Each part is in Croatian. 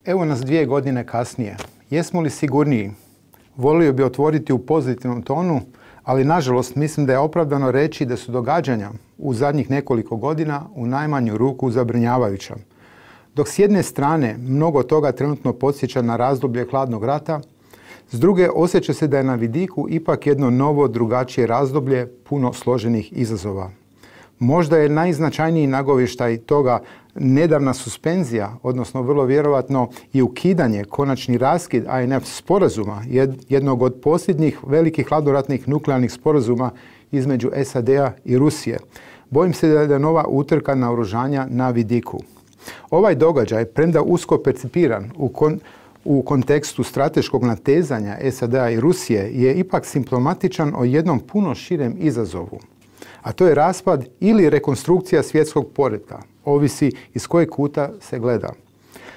Evo nas 2 godine kasnije. Jesmo li sigurniji? Volio bi otvoriti u pozitivnom tonu, ali nažalost mislim da je opravdano reći da su događanja u zadnjih nekoliko godina u najmanju ruku zabrinjavajuća. Dok s jedne strane mnogo toga trenutno podsjeća na razdoblje hladnog rata, s druge osjeća se da je na vidiku ipak jedno novo, drugačije razdoblje puno složenih izazova. Možda je najznačajniji nagovještaj toga nedavna suspenzija, odnosno vrlo vjerojatno i ukidanje, konačni raskid INF sporazuma, jednog od posljednjih velikih hladnoratnih nuklearnih sporazuma između SAD-a i Rusije. Bojim se da je nova utrka naoružanja na vidiku. Ovaj događaj, premda usko percipiran u kontekstu strateškog natezanja SAD-a i Rusije, je ipak simptomatičan o jednom puno širem izazovu. A to je raspad ili rekonstrukcija svjetskog poretka, ovisi iz kojeg kuta se gleda.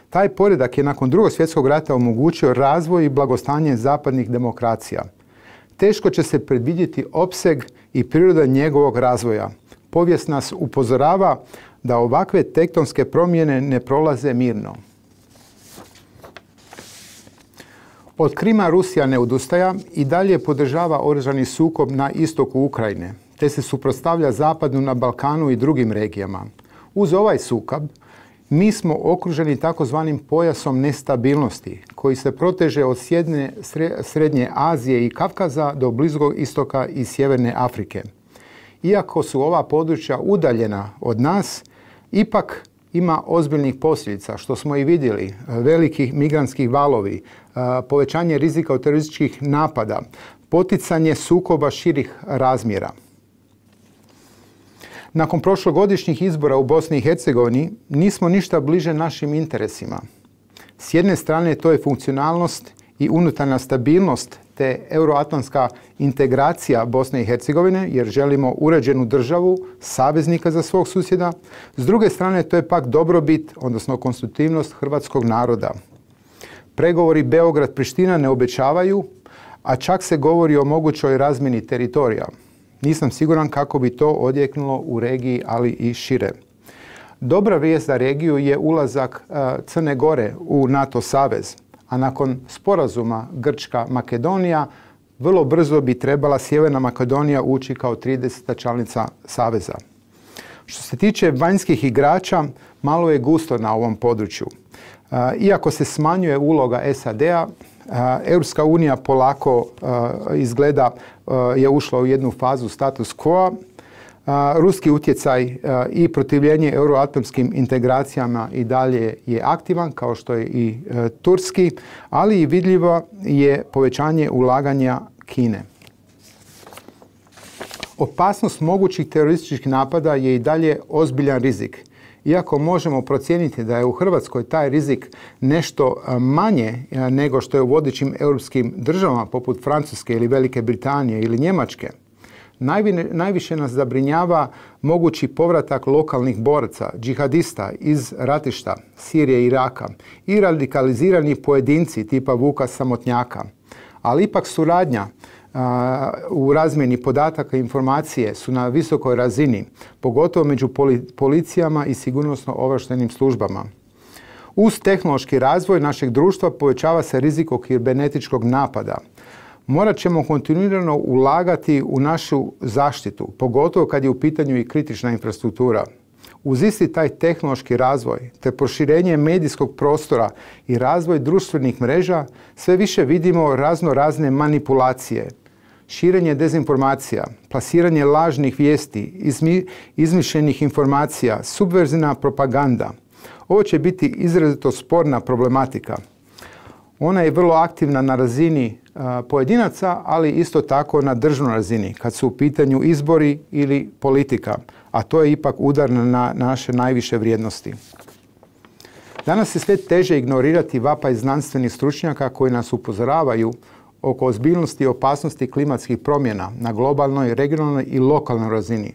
Taj poredak je nakon Drugog svjetskog rata omogućio razvoj i blagostanje zapadnih demokracija. Teško će se predvidjeti opseg i priroda njegovog razvoja. Povijest nas upozorava da ovakve tektonske promjene ne prolaze mirno. Od Krima Rusija ne odustaja i dalje podržava oružani sukob na istoku Ukrajine, te se suprotstavlja Zapadu na Balkanu i drugim regijama. Uz ovaj sukob mi smo okruženi takozvanim pojasom nestabilnosti koji se proteže od Srednje Azije i Kavkaza do Bliskog istoka i Sjeverne Afrike. Iako su ova područja udaljena od nas, ipak ima ozbiljnih posljedica, što smo i vidjeli, velikih migrantskih valovi, povećanje rizika od terorističkih napada, poticanje sukoba širih razmjera. Nakon prošlogodišnjih izbora u Bosni i Hercegovini nismo ništa bliže našim interesima. S jedne strane to je funkcionalnost i unutarnja stabilnost te euroatlantska integracija Bosne i Hercegovine, jer želimo uređenu državu, saveznika za svog susjeda. S druge strane to je pak dobrobit, odnosno konstitutivnost hrvatskog naroda. Pregovori Beograd-Priština ne obećavaju, a čak se govori o mogućoj razmjeni teritorija. Nisam siguran kako bi to odjeknulo u regiji, ali i šire. Dobra vijest za regiju je ulazak Crne Gore u NATO savez, a nakon sporazuma Grčka-Makedonija vrlo brzo bi trebala Sjeverna Makedonija ući kao 30. članica saveza. Što se tiče vanjskih igrača, malo je gusto na ovom području. Iako se smanjuje uloga SAD-a, Europska unija polako izgleda je ušla u jednu fazu status quo. Ruski utjecaj i protivljenje euroatlantskim integracijama i dalje je aktivan, kao što je i turski, ali i vidljivo je povećanje ulaganja Kine. Opasnost mogućih terorističkih napada je i dalje ozbiljan rizik. Iako možemo procijeniti da je u Hrvatskoj taj rizik nešto manje nego što je u vodećim europskim državama poput Francuske ili Velike Britanije ili Njemačke, najviše nas zabrinjava mogući povratak lokalnih boraca, džihadista iz ratišta Sirije i Iraka i radikalizirani pojedinci tipa Vuka Samotnjaka. Ali ipak suradnja u razmjeni podataka i informacije su na visokoj razini, pogotovo među policijama i sigurnosno obavještajnim službama. Uz tehnološki razvoj našeg društva povećava se rizik od kibernetičkog napada. Morat ćemo kontinuirano ulagati u našu zaštitu, pogotovo kad je u pitanju i kritična infrastruktura. Uz isti taj tehnološki razvoj te proširenje medijskog prostora i razvoj društvenih mreža sve više vidimo razne manipulacije, širenje dezinformacija, plasiranje lažnih vijesti, izmišljenih informacija, subverzivna propaganda. Ovo će biti izrazito sporna problematika. Ona je vrlo aktivna na razini pojedinaca, ali isto tako na državnoj razini, kad su u pitanju izbori ili politika, a to je ipak udar na naše najviše vrijednosti. Danas je sve teže ignorirati vapaj znanstvenih stručnjaka koji nas upozoravaju oko ozbiljnosti i opasnosti klimatskih promjena na globalnoj, regionalnoj i lokalnoj razini.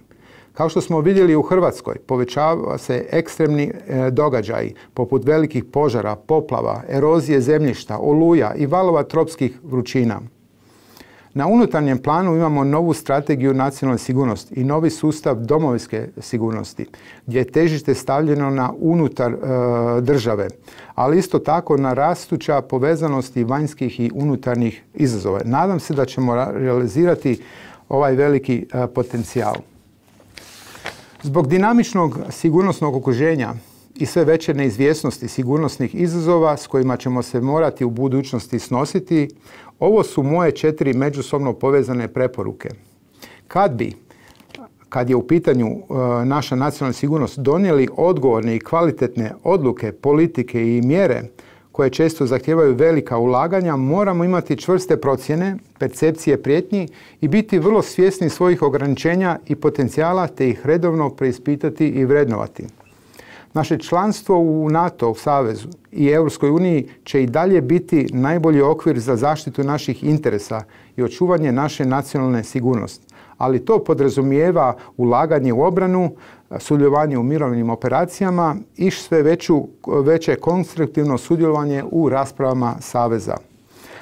Kao što smo vidjeli u Hrvatskoj, povećava se ekstremni događaji poput velikih požara, poplava, erozije zemljišta, oluja i valova tropskih vrućina. Na unutarnjem planu imamo novu strategiju nacionalne sigurnosti i novi sustav domovinske sigurnosti, gdje je težište stavljeno na unutar države, ali isto tako na rastuća povezanosti vanjskih i unutarnjih izazova. Nadam se da ćemo realizirati ovaj veliki potencijal. Zbog dinamičnog sigurnosnog okruženja i sve veće neizvjesnosti sigurnosnih izazova s kojima ćemo se morati u budućnosti snositi, ovo su moje 4 međusobno povezane preporuke. Kad je u pitanju naša nacionalna sigurnost, donijeli odgovorne i kvalitetne odluke, politike i mjere koje često zahtijevaju velika ulaganja, moramo imati čvrste procjene, percepcije prijetnji i biti vrlo svjesni svojih ograničenja i potencijala te ih redovno preispitati i vrednovati. Naše članstvo u NATO savezu i Europskoj uniji će i dalje biti najbolji okvir za zaštitu naših interesa i očuvanje naše nacionalne sigurnosti. Ali to podrazumijeva ulaganje u obranu, sudjelovanje u mirovnim operacijama i sve veće konstruktivno sudjelovanje u raspravama saveza.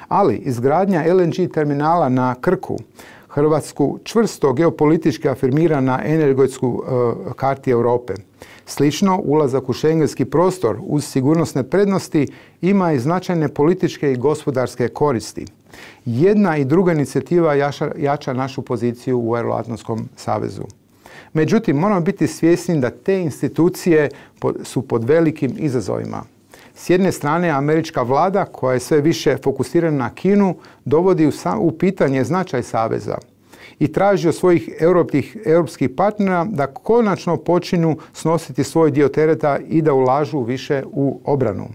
Ali izgradnja LNG terminala na Krku Hrvatsku čvrsto geopolitički afirmira na energetsku karti Europe. Slično, ulazak u šengenski prostor uz sigurnosne prednosti ima i značajne političke i gospodarske koristi. Jedna i druga inicijativa jača našu poziciju u Euroatlantskom savezu. Međutim, moramo biti svjesni da te institucije su pod velikim izazovima. S jedne strane, američka vlada, koja je sve više fokusirana na Kinu, dovodi u pitanje značaj saveza i traži od svojih europskih partnera da konačno počinju snositi svoj dio tereta i da ulažu više u obranu.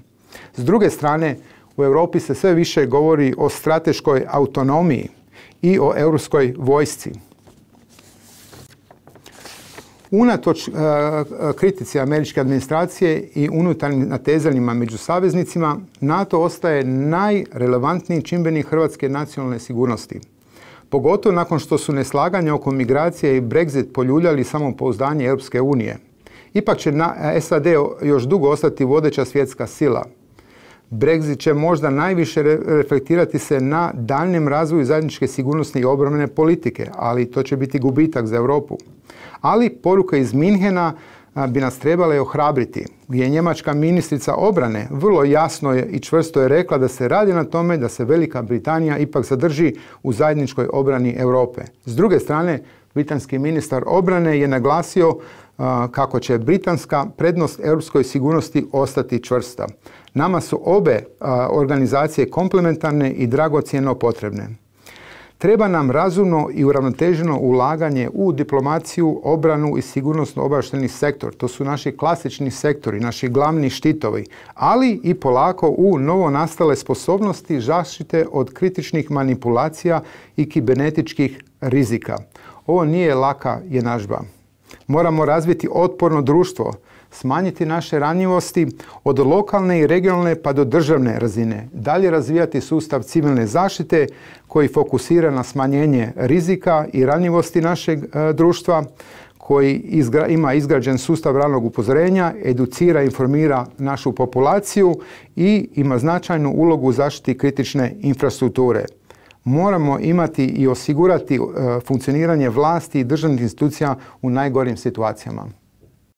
S druge strane, u Europi se sve više govori o strateškoj autonomiji i o europskoj vojsci. Unatoč kritici američke administracije i unutarnjim natezanjima među saveznicima, NATO ostaje najrelevantniji čimbenik hrvatske nacionalne sigurnosti. Pogotovo nakon što su neslaganja oko migracije i Brexit poljuljali samopouzdanje Europske unije. Ipak će SAD još dugo ostati vodeća svjetska sila. Brexit će možda najviše reflektirati se na daljnjem razvoju zajedničke sigurnosne i obrambene politike, ali to će biti gubitak za Europu. Ali poruka iz Minhena bi nas trebala ohrabriti, gdje je njemačka ministrica obrane vrlo jasno i čvrsto je rekla da se radi na tome da se Velika Britanija ipak zadrži u zajedničkoj obrani Europe. S druge strane, britanski ministar obrane je naglasio kako će britanska prednost europskoj sigurnosti ostati čvrsta. Nama su obe organizacije komplementarne i dragocjeno potrebne. Treba nam razumno i uravnoteženo ulaganje u diplomaciju, obranu i sigurnosno-obavještajni sektor. To su naši klasični sektori, naši glavni štitovi, ali i polako u novonastale sposobnosti zaštite od kritičnih manipulacija i kibernetičkih rizika. Ovo nije laka jednadžba. Moramo razviti otporno društvo, smanjiti naše ranjivosti od lokalne i regionalne pa do državne razine, dalje razvijati sustav civilne zaštite koji fokusira na smanjenje rizika i ranjivosti našeg društva, koji ima izgrađen sustav ranog upozorenja, educira i informira našu populaciju i ima značajnu ulogu u zaštiti kritične infrastrukture. Moramo imati i osigurati funkcioniranje vlasti i državnih institucija u najgorim situacijama.